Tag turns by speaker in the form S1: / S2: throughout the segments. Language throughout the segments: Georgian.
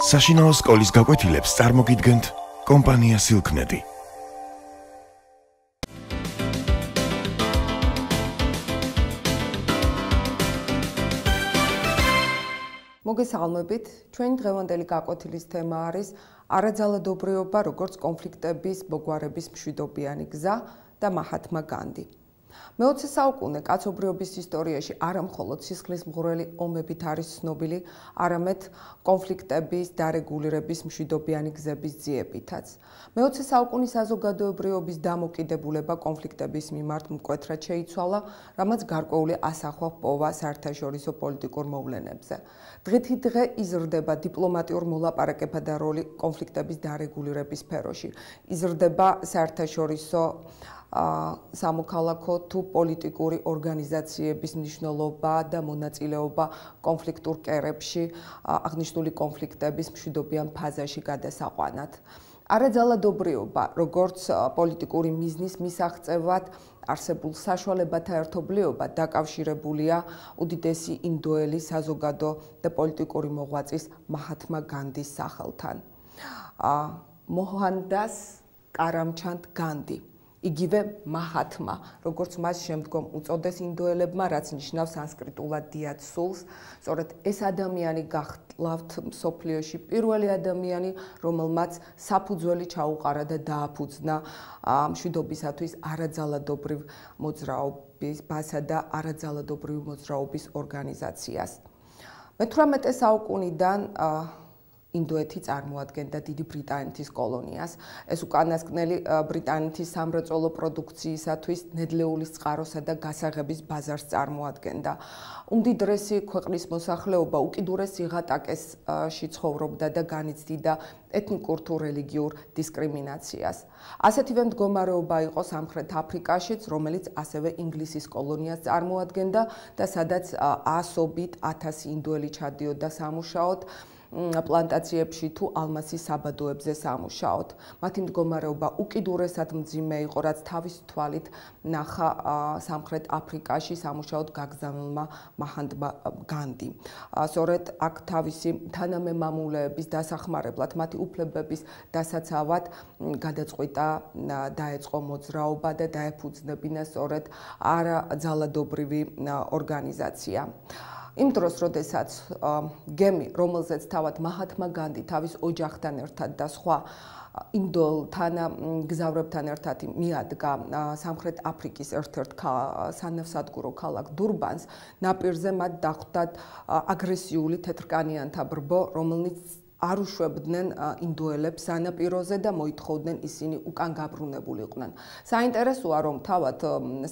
S1: საშინაო სკოლის გაკვეთილებს წარმოგიდგენთ კომპანია Silknet.
S2: მოგესალმებით, ჩვენი დღევანდელი გაკვეთილის თემა არის არაძალადობრიობა, როგორც კონფლიქტების მოგვარების მშვიდობიანი გზა და მაჰათმა განდი. მე-20 საუკუნე კაცობრიობის ისტორიაში არა მხოლოდ სისხლისმღვრელი ომებით არის ცნობილი, არამედ კონფლიქტების დარეგულირების მშვიდობიანი გზების ძიებითაც. მე-20 საუკუნის საზოგადოებრიობის დამოკიდებულება კონფლიქტების მიმართ მკვეთრად შეიცვალა, რამაც გარკვეული ასახვა ჰპოვა საერთაშორისო პოლიტიკურ მოვლენებზე. დღითიდღე იზრდება დიპლომატიურ მოლაპარაკებათა როლი კონფლიქტების დარეგულირების სფეროში. იზრდება საერთაშორისო სამოქალაქო თუ პოლიტიკური ორგანიზაციების მნიშვნელობა და მონაწილეობა კონფლიქტურ კერებში აღნიშნული კონფლიქტების მშვიდობიან ფაზაში გადასაყვანად. არაძალადობრიობა, როგორც პოლიტიკური მიზნის მისაღწევად არსებულ საშუალებათა ერთობლიობა დაკავშირებულია უდიდესი ინდოელი საზოგადო და პოლიტიკური მოღვაწის მაჰათმა განდის სახელთან. მოჰანდას კარამჩანდ განდი. იგივე მაჰათმა, როგორც მას შემდგომ უწოდეს ინდოელებმა, რაც ნიშნავს სანსკრიტულად დიად სულს, სწორედ ეს ადამიანი გახლავთ მსოფლიოში პირველი ადამიანი, რომელმაც საფუძველი ჩაუყარა და დააფუძნა მშვიდობისათვის არაძალადობრივ მოძრაობასა და არაძალადობრივი მოძრაობის ორგანიზაციას. მე-18 საუკუნიდან ინდოეთი წარმოადგენდა დიდი ბრიტანეთის კოლონიას. ეს უკანასკნელი ბრიტანეთის სამრეწველო პროდუქციისათვის ნედლეულის წყაროსა და გასაღების ბაზარს წარმოადგენდა. უმდიდრესი ქვეყნის მოსახლეობა უკიდურეს სიღატაკეში ცხოვრობდა და განიცდიდა ეთნიკურ თუ რელიგიურ დისკრიმინაციას. ასეთივე მდგომარეობა იყო სამხრეთ აფრიკაშიც, რომელიც ასევე ინგლისის კოლონიას წარმოადგენდა და სადაც ასობით 1000 ინდოელი ჩადიოდა სამუშაოდ პლანტაციებში თუ ალმასის საბადოებზე სამუშაოდ. მათი მდგომარეობა უკიდურესად მძიმე იყო, რაც თავის თვალით ნახა სამხრეთ აფრიკაში სამუშაოდ გაგზავნილმა მაჰათმა განდიმ. სწორედ აქ თავისი თანამემამულეების დასახმარებლად, მათი უფლებების დასაცავად გადაწყვიტა დაეწყო მოძრაობა და დაეფუძნებინა სწორედ არაძალადობრივი ორგანიზაცია. იმ დროს, როდესაც გემი, რომელზეც თავად მაჰათმა განდი თავის ოჯახთან ერთად და სხვა ინდოელთან მგზავრებთან ერთად მიადგა სამხრეთ აფრიკის ერთ-ერთ სანავსადგურო ქალაქ დურბანს, ნაპირზე მათ დახვდათ აგრესიული თეთრკანიანთა ბრბო, რომელიც არ უშვებდნენ ინდოელებს სანაპიროზე და მოითხოვდნენ ისინი უკან გაბრუნებულიყვნენ. საინტერესოა, რომ თავად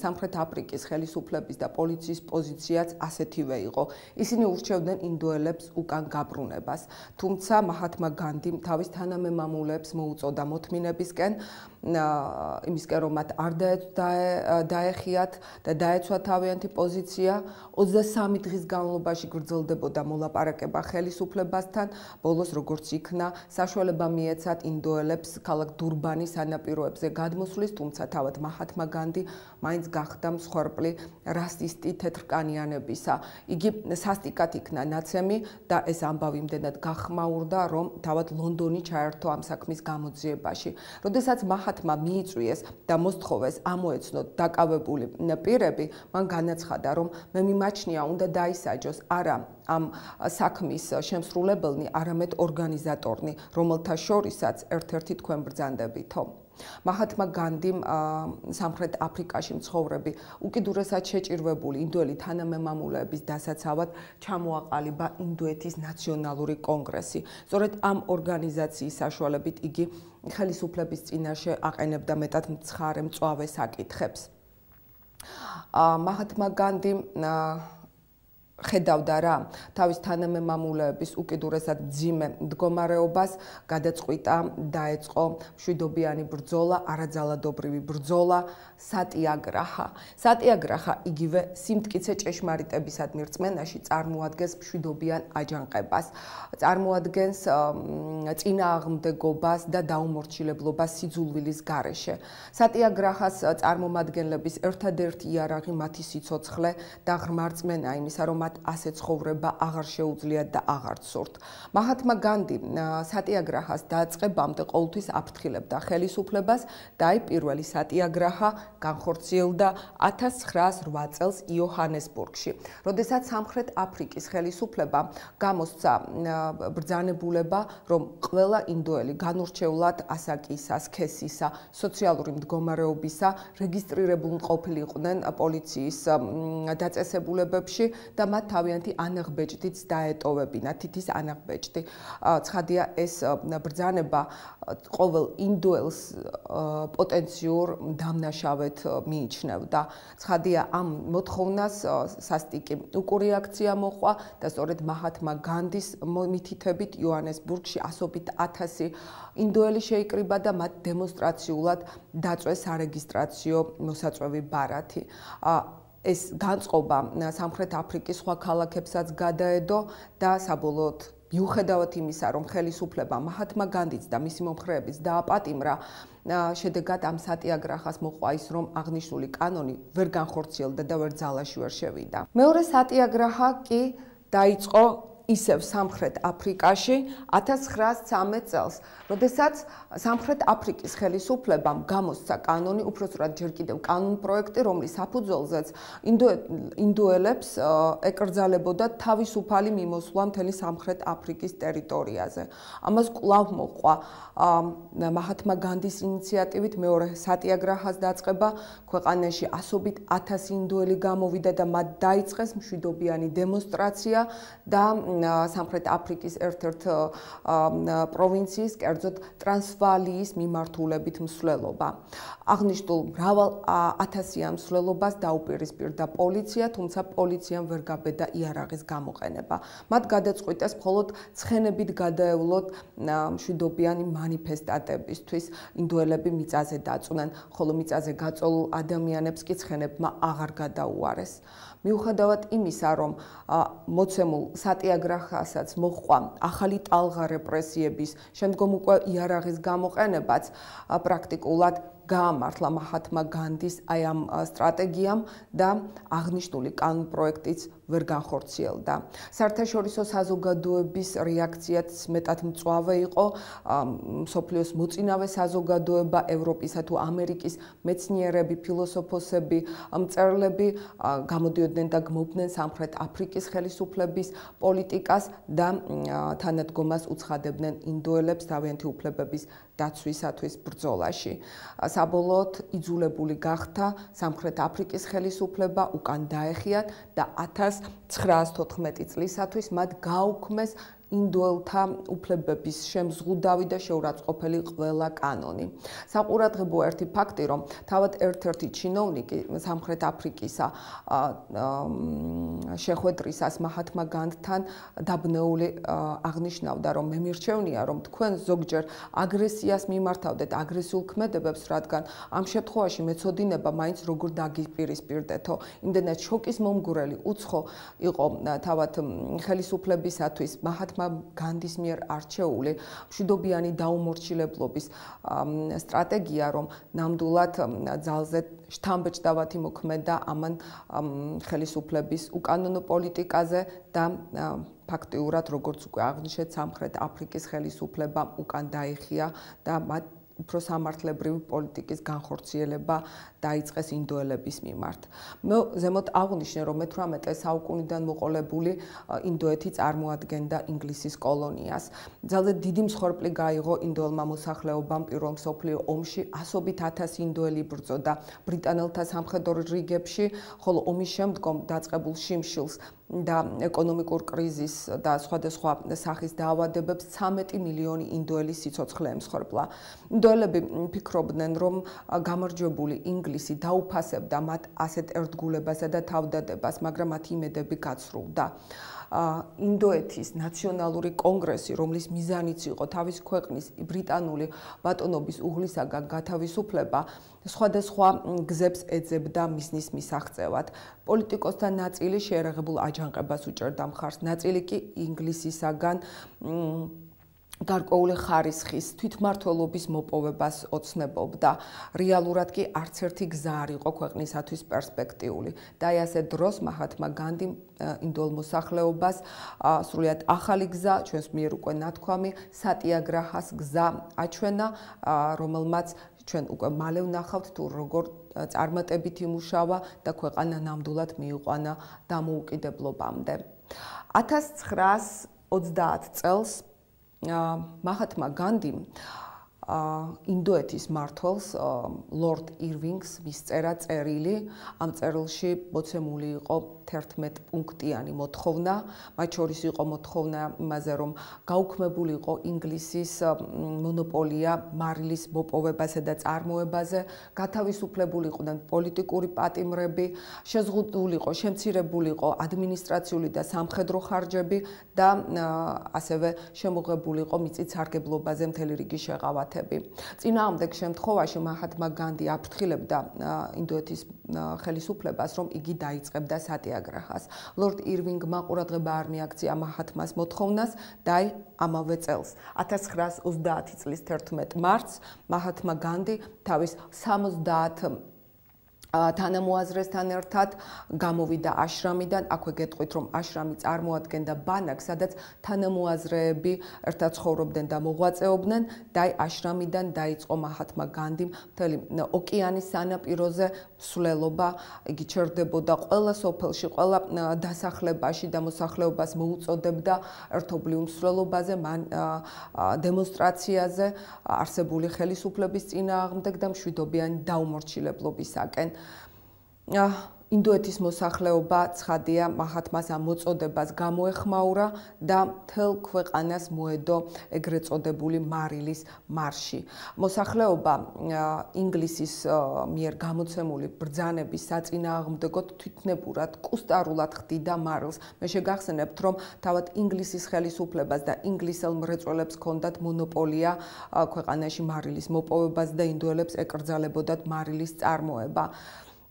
S2: სამხრეთ აფრიკის ხელისუფლების და პოლიციის პოზიციაც ასეთივე იყო. ისინი ურჩევდნენ ინდოელებს უკან გაბრუნებას. თუმცა მაჰათმა განდიმ თავის თანამემამულეებს მოუწოდა მოთმინებისკენ, იმისკენ რომ მათ არ დაეხიათ და დაეცვა თავიანთი პოზიცია. 23 დღის განმავლობაში გრძელდებოდა მოლაპარაკება ხელისუფლებასთან. ბოლოს როგორც იქნა, საშუალება მიეცათ ინდოელებს ქალაქ დურბანის სანაპიროებზე გადმოსვლის, თუმცა თავად მაჰათმა განდი მაინც გახდა მსხვერპლი რასისტი თეთრკანიანებისა. იგი სასტიკად იქნა ნაცემი და ეს ამბავი იმდენად გახმაურდა, რომ თავად ლონდონი ჩაერთო ამ საქმის გამოძიებაში. როდესაც მაჰათმა მიიწვიეს და მოსთხოვეს ამოეცნოთ დაკავებული პირები, მან განაცხადა, რომ მე მიმაჩნია უნდა დაისაჯოს არა ამ საქმის შემსრულებელნი, არამედ ორგანიზატორნი, რომელთა შორისაც ერთ-ერთი თქვენ ბრძანდებითო. მაჰათმა განდიმ სამხრეთ აფრიკაში მცხოვრები უკიდურესად შეჭირვებული ინდოელი თანამემამულეების დასაცავად ჩამოაყალიბა ინდოეთის ნაციონალური კონგრესი. სწორედ ამ ორგანიზაციის საშუალებით იგი ხელისუფლების წინაშე აყენებდა მეტად მცხარე მწვავე საკითხებს. მაჰათმა განდიმ ხედავდა რა თავის თანამემამულეების უკიდურესად მძიმე მდგომარეობას, გადაწყვიტა დაეწყო მშვიდობიანი ბრძოლა, არაძალადობრივი ბრძოლა, სატიაგრაჰა. სატიაგრაჰა იგივე სიმტკიცე ჭეშმარიტებისადმი რწმენაში წარმოადგენს მშვიდობიან აჯანყებას, წარმოადგენს წინააღმდეგობას და დაუმორჩილებლობას სიძულვილის გარეშე. სატიაგრაჰას წარმომადგენლების ერთადერთი იარაღი მათი სიცოცხლე და ღრმა რწმენა იმისა, რომ მათ ასე ცხოვრება აღარ შეუძლიათ და აღარ სურთ. მაჰათმა განდი სატიაგრაჰას დაწყებამდე ყოველთვის აფრთხილებდა ხელისუფლებას და აი პირველი სატიაგრაჰა განხორციელდა 1908 წელს იოჰანესბურგში, როდესაც სამხრეთ აფრიკის ხელისუფლებამ გამოსცა ბრძანებულება, რომ ყველა ინდოელი განურჩევლად ასაკისა, სქესისა, სოციალური მდგომარეობისა რეგისტრირებულ ყოფილიყვნენ პოლიციის დაწესებულებებში და მათ თავიანთი ანაღბეჭდიც დაეტოვებინა, თითის ანაღბეჭდი. ცხადია, ეს ბრძანება ყოველ ინდოელს პოტენციურ დამნაშავედ მიიჩნევდა. ცხადია, ამ მოთხოვნას სასტიკი უკურეაქცია მოჰყვა და სწორედ მაჰათმა განდის მითითებით იოჰანესბურგში ასობით 1000 ინდოელი შეიკრიბა და მათ დემონსტრაციულად დაწვეს სარეგისტრაციო მოსაწვევი ბარათი. ეს განწყობა სამხრეთ აფრიკის სხვა ქალაქებსაც გადაედო და საბოლოოდ მიუხედავად იმისა, რომ ხელისუფლება მაჰათმა განდიც და მისი მომხრეებიც დააპატიმრა, შედეგად ამ სატიაგრაჰას მოყვა ის, რომ აღნიშნული კანონი ვერ განხორციელდა და ვერ ძალაში ვერ შევიდა. მეორე სატიაგრაჰა კი დაიწყო ისევ სამხრეთ აფრიკაში 1913 წელს, როდესაც სამხრეთ აფრიკის ხელისუფლებამ გამოსცა კანონი, უпроსტად ჯერ კიდევ კანონპროექტი, რომლის საფუძველზეც ინდოელებს ეკრძალებოდა თავისუფალი მიმოსვლა მთელი სამხრეთ აფრიკის ტერიტორიაზე. ამას კვლავ მოჰყვა მაჰათმა განდის ინიციატივით მეორე სატიაგრაჰას დაწყება, ქვეყანაში ასობით 1000 ინდოელი გამოვიდა და მათ დაიწყეს მშვიდობიანი დემონსტრაცია და სამხრეთ აფრიკის ერთ-ერთ პროვინციის, კერძოდ ტრანსვალიის მიმართულებით მსვლელობა. აღნიშნულ მრავალ 1000-იან მსვლელობას დაუპირისპირდა პოლიცია, თუმცა პოლიციამ ვერ გაბედა იარაღის გამოყენება. მათ გადაწყვიტეს მხოლოდ ცხენებით გადაევლოთ მშვიდობიანი მანიფესტატებისთვის, ინდოელები მიწაზე დაწუნან, ხოლო მიწაზე გაწოლულ ადამიანებს კი ცხენებმა აღარ გადაუარეს. მიუხედავად იმისა, რომ მოცემულ სატიაგრაჰასაც მოჰყვა ახალი ტალღა რეპრესიების, შემდგომ უკვე იარაღის გამოყენებაც პრაქტიკულად გაამართლა მაჰათმა განდის აი ამ სტრატეგიამ და აღნიშნული კანონპროექტიც ვერ განხორციელდა. საერთაშორისო საზოგადოების რეაქციაც მეტად მწვავე იყო. მსოფლიოს მოწინავე საზოგადოება, ევროპისა თუ ამერიკის მეცნიერები, ფილოსოფოსები, მწერლები გამოდიოდნენ და გმობდნენ სამხრეთ აფრიკის ხელისუფლების პოლიტიკას და თანადგომას უცხადებდნენ ინდოელებს თავიანთი უფლებების დაცვისათვის ბრძოლაში. საბოლოოდ იძულებული გახდა სამხრეთ აფრიკის ხელისუფლება უკან დაეხიათ და 1914 წლისათვის მათ გააუქმეს ინდოელთა უფლებების შემზღუდავი და შეურაცხყოფელი ყველა კანონი. საყურადღებოა ერთი ფაქტი, რომ თავად ერთ-ერთი ჩინოვნიკი სამხრეთ აფრიკისა შეხვედრისას მაჰათმა განდთან დაბნეული აღნიშნავდა, რომ მე მირჩევნია, რომ თქვენ ზოგჯერ აგრესიას მიმართავდეთ აგრესიულ ქმედებებს, რადგან ამ შემთხვევაში მეცოდინება მაინც როგორ დაგიპირისპირდეთო. იმდენად შოკის მომგვრელი უცხო იყო თავად ხელისუფლებისათვის მაჰათმა განდის მიერ არჩეული მშვიდობიანი დაუმორჩილებლობის სტრატეგია, რომ ნამდვილად ძალზე შთამბეჭდავათი მოქმედა ამან ხელისუფლების უკანონო პოლიტიკაზე და ფაქტიურად, როგორც უკვე აღნიშნეთ, სამხრეთ აფრიკის ხელისუფლებამ უკან დაიხია და მათ უფრო სამართლებრივი პოლიტიკის განხორციელება დაიწყეს ინდოელების მიმართ. მე ზემოთ აღვნიშნე, რომ მე-18 საუკუნიდან მოყოლებული ინდოეთი წარმოადგენდა ინგლისის კოლონიას. ძალზე დიდი მსხვერპლი გაიღო ინდოელმა მოსახლეობამ პირველ მსოფლიო ომში, ასობით 1000 ინდოელი იბრძოდა ბრიტანელთა სამხედრო რიგებში, ხოლო ომის შემდგომ დაწყებულ შიმშილს და ეკონომიკურ კრიზისს და სხვადასხვა სახის დაავადებებს 13 მილიონი ინდოელი სიცოცხლე ემსხვერპლა. ინდოელები ფიქრობდნენ, რომ გამარჯვებული ინგლისი დაუფასებდა მათ ასეთ ერთგულებასა და თავდადებას, მაგრამ მათი იმედები გაცრუვდა. ინდოეთის ნაციონალური კონგრესი, რომლის მიზანიც იყო თავის ქვეყნის ბრიტანული ბატონობის უღლისაგან გათავისუფლება, სხვადასხვა გზებს ეძებდა მიზნის მისაღწევად. პოლიტიკოსთა ნაწილი შეერაღებულ აჯანყებას უჭერდა მხარს, ნაწილი კი ინგლისისაგან გარკვეული ხარისხის თვითმმართველობის მოპოვებას ოცნებობდა. რეალურად კი არც ერთი გზა არ იყო ქვეყნისათვის პერსპექტიული. და აი ასე დროს მაჰათმა განდიმ ინდოელ მოსახლეობას სრულიად ახალი გზა, ჩვენს მიერ უკვე ნათქვამი, სატიაგრაჰას გზა აჩვენა, რომელმაც ჩვენ უკვე მალე ვნახავთ თუ როგორ წარმატებით იმუშავა და ქვეყანა ნამდვილად მიიყვანა დამოუკიდებლობამდე. 1930 წელს მაჰათმა განდიმ ინდოეთის მმართველს ლორდ ირვინგს მისწერა წერილი. ამ წერილში მოცემული იყო 11 პუნქტიანი მოთხოვნა, მათ შორის იყო მოთხოვნა იმაზე, რომ გაუქმებული იყო ინგლისის მონოპოლია მარილის მოპოვებაზე და წარმოებაზე, გათავისუფლებული იყვნენ პოლიტიკური პატიმრები, შეზღუდული იყო, შემცირებული იყო ადმინისტრაციული და სამხედრო ხარჯები და ასევე შემოღებული იყო მიწით სარგებლობაზე მთელი რიგი შეღავათები. წინააღმდეგ შემთხვევაში მაჰათმა განდი აფრთხილებდა ინდოეთის ხელისუფლებას, რომ იგი დაიწყებდა სატიაგრაჰას. ლორდ ირვინგმა ყურადღება არ მიაქცია მაჰათმას მოთხოვნას და აი ამავე წელს 1930 წლის 11 მარტს მაჰათმა განდი თავის 70 თანამოაზრესთან ერთად გამოვიდა აშრამიდან. აქვე გეტყვით, რომ აშრამი წარმოადგენდა ბანაკს, სადაც თანამოაზრეები ერთად ცხოვრობდნენ და მოღვაწეობდნენ და აი აშრამიდან დაიწყო მაჰათმა განდიმ მთელი ოკეანის სანაპიროზე მსვლელობა. იგი ჩერდებოდა ყველა სოფელში, ყველა დასახლებაში და მოსახლეობას მოუწოდებდა ერთობლივ მსვლელობაზე, დემონსტრაციაზე არსებული ხელისუფლების წინააღმდეგ და მშვიდობიანი დაუმორჩილებლობისაკენ. ინდოეთის მოსახლეობა ცხადია მაჰათმას ამ მოწოდებას გამოეხმაურა და მთელ ქვეყანას მოედო ეგრეთ წოდებული მარილის მარში. მოსახლეობა ინგლისის მიერ გამოცემული ბრძანების საწინააღმდეგოდ თვითნებურად, კუსტარულად ხდიდა მარილს. მე შეგახსენებთ, რომ თავად ინგლისის ხელისუფლებას და ინგლისელ მრეწველებს ჰქონდათ მონოპოლია ქვეყანაში მარილის მოპოვებას და ინდოელებს ეკრძალებოდათ მარილის წარმოება.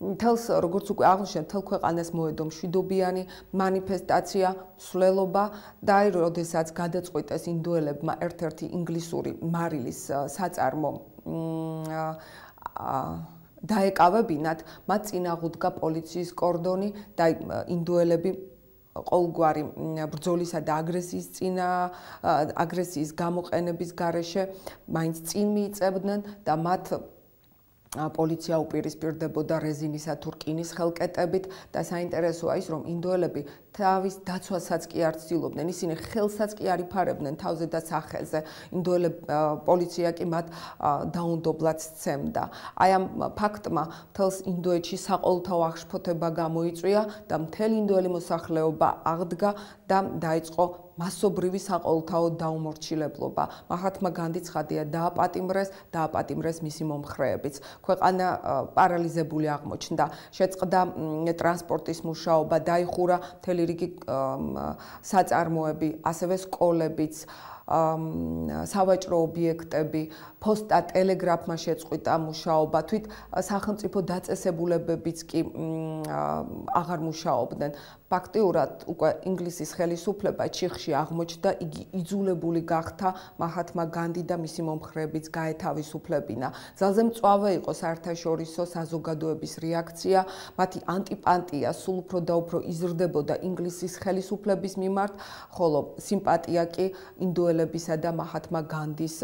S2: თელს როგორც უკვე აღნიშნეთ, თელ ქვეყანას მოედო მშვიდობიანი მანიფესტაცია, მსვლელობა და აი როდესაც გადაწყვიტეს ინდოელებმა ერთ-ერთი ინგლისური მარილის საწარმო დაეკავებინათ, მათ წინაღუდგა პოლიციის კორდონი და ინდოელები ყოველგვარი ბრძოლისა და აგრესიის გამოყენების გარეშე მაინც წინ მიიწევდნენ და მათ პოლიცია უპირისპირდებოდა რეზინისა თუ რკინის ხელკეტებით და საინტერესოა ის, რომ ინდოელები თავის დაცვასაც კი არ ცდილობდნენ, ისინი ხელსაც კი არ იფარებდნენ თავზე და სახელზე. პოლიცია კი მათ დაუნდობლად სცემდა. აი ამ ფაქტმა მთელს ინდოეთში საყოველთაო აღშფოთება გამოიწვია და მთელი ინდოელი მოსახლეობა აღდგა და დაიწყო მასობრივი საყოველთაო დაუმორჩილებლობა. მაჰათმა განდი ცხადია დააპატიმრეს მისი მომხრეებიც. ქვეყანა პარალიზებული აღმოჩნდა. შეწყდა ტრანსპორტის მუშაობა, დაიხურა მთელი რიგი საწარმოები, ასევე სკოლებიც, სავაჭრო ობიექტები, ფოსტა, ტელეგრაფმა შეწყვიტა მუშაობა, თვით სახელმწიფო დაწესებულებებიც კი აღარ მუშაობდნენ. ფაქტიურად უკვე ინგლისის ხელისუფლება ჩიხში აღმოჩნდა, იგი იძულებული გახდა მაჰათმა განდი და მისი მომხრეებიც გაეთავისუფლებინა. ძალზე მწვავე იყო საერთაშორისო საზოგადოების რეაქცია, მათი ანტიპატია სულ უფრო და უფრო იზრდებოდა ინგლისის ხელისუფლების მიმართ, ხოლო სიმპათია კი ინდოელებისა და მაჰათმა განდის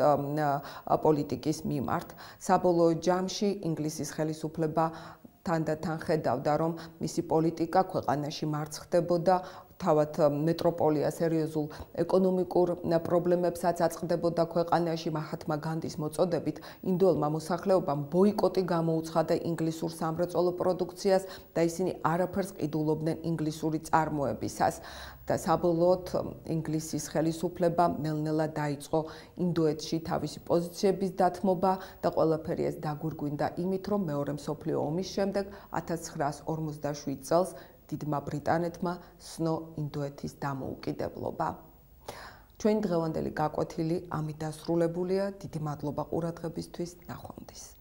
S2: პოლიტიკის მიმართ. საბოლოო ჯამში ინგლისის ხელისუფლება თანდათან ხედავდა, რომ მისი პოლიტიკა ქვეყანაში მარცხდებოდა, თავად მეტროპოლია სერიოზულ ეკონომიკურ პრობლემებსაც აწყდებოდა ქვეყანაში. მაჰათმა განდის მოწოდებით ინდოელმა მოსახლეობამ ბოიკოტი გამოუცხადა ინგლისურ სამრეწველო პროდუქციას და ისინი არაფერს ყიდულობდნენ ინგლისური წარმოებისას. და საბოლოოდ ინგლისის ხელისუფლება ნელ-ნელა დაიწყო ინდოეთში თავისი პოზიციების დათმობა და ყველაფერი ეს დაგვირგვინდა იმით, რომ მეორე მსოფლიო ომის შემდეგ 1947 წელს დიდმა ბრიტანეთმა სცნო ინდოეთის დამოუკიდებლობა. ჩვენი დღევანდელი გაკვეთილი ამით დასრულებულია. დიდი მადლობა ყურადღებისთვის. ნახვამდის.